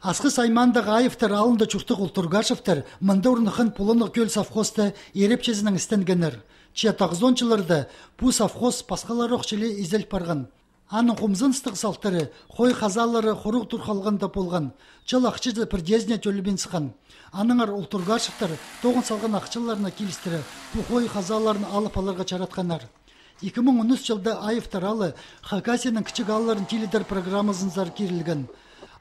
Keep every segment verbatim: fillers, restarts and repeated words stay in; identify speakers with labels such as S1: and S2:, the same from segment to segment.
S1: Асқы сайманда ғайыфтар алында чуртық ұлтыргашевтар мында урныхын пулынық көл совхозда ерепчезінің істенгенер. Че тағзончыларды бұ совхоз пасқалар оқчылы изел парған. Аны құмзын стық салтары, қой қазалары құруқ тұрқалғанда болған. Чыл ақчызы бірдезіне төлібен сықан. Аныңар ұлтыргашевтар тоғын салған ақчыларына келістірі, бұ қой қазаларын алып аларға чаратқанар. екі мың он үш жылда айыфтар алы Хакасияның кічік алларын теледер программасын зар керілген.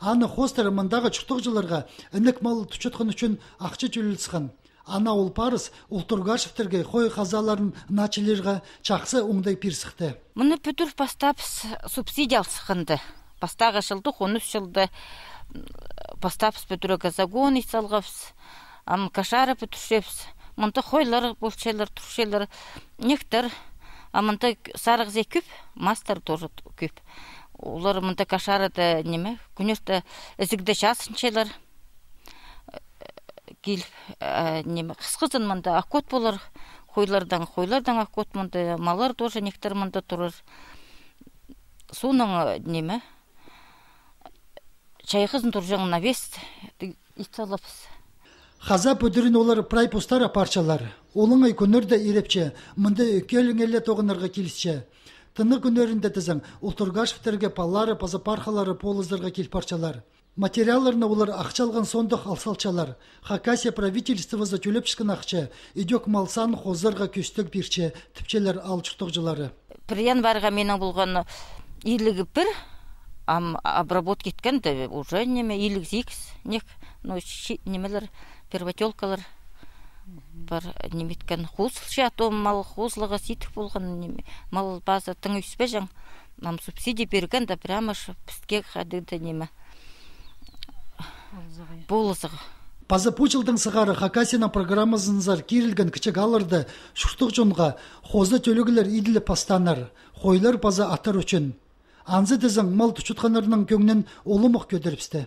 S1: Аны хостары мындағы чұртық жыларға інік малы түчетқан үшін ақчы төлілсіған. Ана ол парыз ұлтыргашевтерге қой қазаларын начелерға чақсы оңдай пирсіқті.
S2: Мұны пүтір постапс субсидия алсықынды. Постаға жылды, он үш жылды постапс пүтірі газагон исалғапс, ам кашары пүтіршепс, мұнты қойлар, болчайлар, тұршайлар, нектір, амынты сарығзе күп, мастер тоже күп. Олар мұнда кашарыда неме, күнерді ізігді жасыншайлар келіп, неме, қысқызын мұнда ақкот болар, қойлардан, қойлардан ақкот мұнда, малар тоже нектір мұнда тұрыр. Соның неме, чайқызын тұржаңын навес италапыз.
S1: Қаза пөдірін олар прай постара парчалар. Олың ай күнерді ерепче, мұнда өкелің әлі тоғынарға келісче. Тыны күнерінде тізің, ұлтыргашевтерге палары, пазапархалары, полыздарға кел парчалар. Материаларына олар ақчалған сондық алсалчалар. Хакасия правительствоза төлеп шықын ақча, идек малсан хозырға көстік бірче, тіпчелер алчықтық жылары.
S2: Приян барға менің болған иілігі бір, ам обработ кеткенді, уже неме иілік зикс, нек, ну, немелер, первотелкалар бар неметкен хузылшы атом мал хузлыға ситік болған мал база тың үйспе жаң нам субсидия берген да прямо пістке қадыды неме болызығы.
S1: Паза пучылдың сығары Хакасияның программасын зар керілген кічік алырды шұртық жонға хозы төлігілер иділі пастанар, қойлар паза атар үшін. Анзы дізің мал тұчытқанырының көңнен олымық көдіріпсті.